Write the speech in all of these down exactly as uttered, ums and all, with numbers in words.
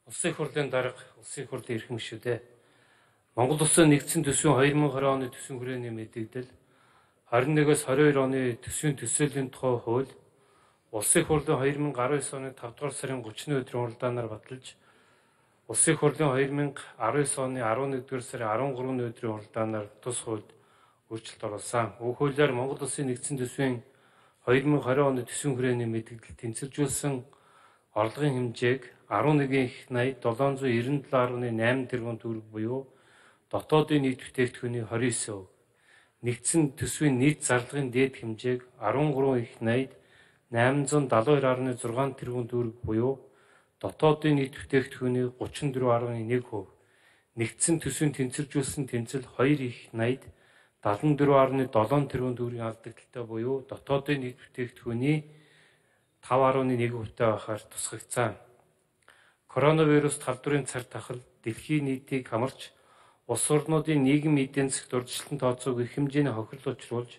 Улсын хурлын дарга, улсын хурлын эрхэм гишүүдээ Монгол Улсын нэгдсэн төсвийн две тысячи двадцать оны төсвийн хүрээний мэдээлэл двадцать нэгээс двадцать two оны төсвийн төсөөллийн тухай хууль Улсын хурлын две тысячи десять оны five дугаар сарын thirty өдрийн уралдаанаар баталж Улсын хурлын две тысячи nineteen оны eleven дугаар сарын thirteen өдрийн уралдаанаар тус хуульд өөрчлөлт оруулсан. Уг хуулиар Монгол Улсын нэгдсэн төсвийн две тысячи twenty оны төсвийн хүрээний мэдээлэл тэнцвэржүүлсэн орлогын хэмжээг eleven их eighty seven ninety seven eight тэрбум төгрөг буюу дотоодын нийт бүтээгдэхүүний twenty-nine percent, нэгдсэн төсвийн нийт зарлагын дээд хэмжээг thirteen их eighty eight seventy-two six тэрбум төгрөг буюу дотоодын нийт бүтээгдэхүүний thirty-four point one percent, нэгдсэн төсвийн тэнцвэржүүлсэн тэнцэл two их eighty seventy-four point seven тэрбум төгрөгийн алдагдaltaй буюу дотоодын нийт бүтээгдэхүүний five point one percent байхаар тусгагдсан. Коронавирус халдварын цар тахал дэлхийн нийтийг хамарч улс орнуудын нийгмийн эдийн засгт урьдчилан тооцоог их хэмжээний хохирол учруулж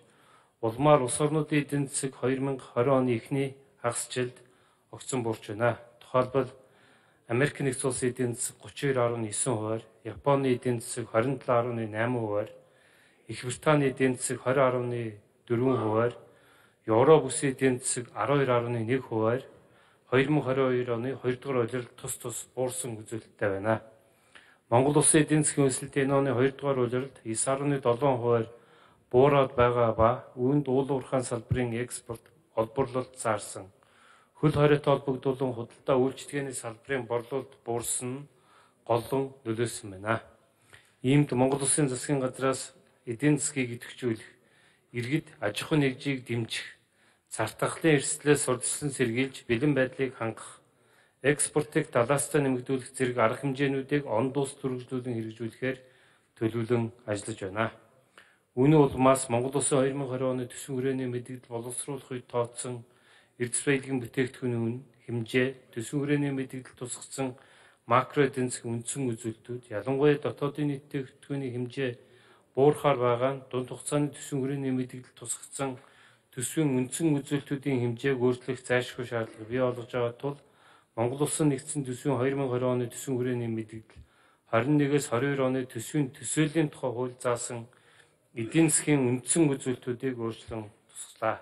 улмаар улс орнуудын эдийн засаг twenty twenty оны эхний хагас жилд огцон буурч байна. Тухайлбал Америк нэгдсэн улсын эдийн засаг thirty-two point nine хувиар, Японы эдийн засаг twenty-seven point eight хувиар, Их Британий эдийн засаг twenty point four хувиар, Европ улсын эдийн засаг twelve point one хувиар twenty twenty-two оны two дугаар улиралд тус тус буурсан үзүүлэлттэй байна. Монгол улсын эдийн засгийн өсөлт энэ оны two дугаар улиралд nine point seven хувиар буураад байгаа ба үүнд уул уурхайн салбарын экспорт олборлолт заарсан. Хөл хориотой холбогдуулан худалдаа үйлчилгээний салбарын борлуулалт буурсан нь голлон нөлөөсөн байна. Иймд Монгол улсын засгийн газраас эдийн засгийг идэвхжүүлэх, иргэд аж ахуйн нэгжийг дэмжих, цар тахлын эрсдлээс урьдчилан сэргийлж бэлэн байдлыг хангах, экспортыг талаастай нэмэгдүүлэх зэрэг арга хэмжээнүүдийг он дус төрөвжлүүлэн хэрэгжүүлэхээр төлөвлөн ажиллаж байна. Үүний улмаас Монгол Улсын twenty twenty оны төсвийн хүрээний мэдээлэл боловсруулах үед тооцсон эрдэс баялагын бүтээгдэхүүний үн, хэмжээ, төсвийн хүрээний мэдээлэл тусгацсан макро эдийн засгийн үндсэн үзүүлэлтүүд, ялангуяа дотоодын нийт бүтээгдэхүүний хэмжээ буурахаар байгаа нь дунд хугацааны төсвийн хүрээний мэдээлэл тусгацсан төсвийн үндсэн үзүүлэлтүүдийн хэмжээг өөрчлөх зайлшгүй шаардлага бий болгож байгаа тул Монгол Улсын нэгдсэн төсвийн twenty twenty оны төсвийн хүрээний мэдээлэл twenty-one-ээс twenty-two оны төсвийн төсөөлийн тухай хууль заасан эдийн засгийн үндсэн үзүүлэлтүүдийг өөрчлөн тусгалаа.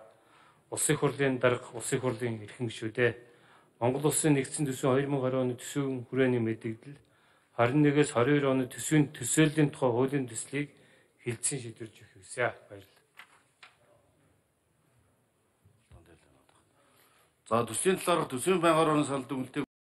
Улсын хурлын дарга, улсын хурлын эрхэм гишүүдээ Монгол Улсын нэгдсэн төсвийн twenty twenty оны төсвийн хүрээний мэдээлэл twenty-one-ээс twenty-two оны төсвийн төсөөлийн тухай хуулийн төслийг хэлтсэн шийдвэрж өгөх хүсье. Баярлалаа. За төсвийн талаарх төсвийн байнгын орон салбарын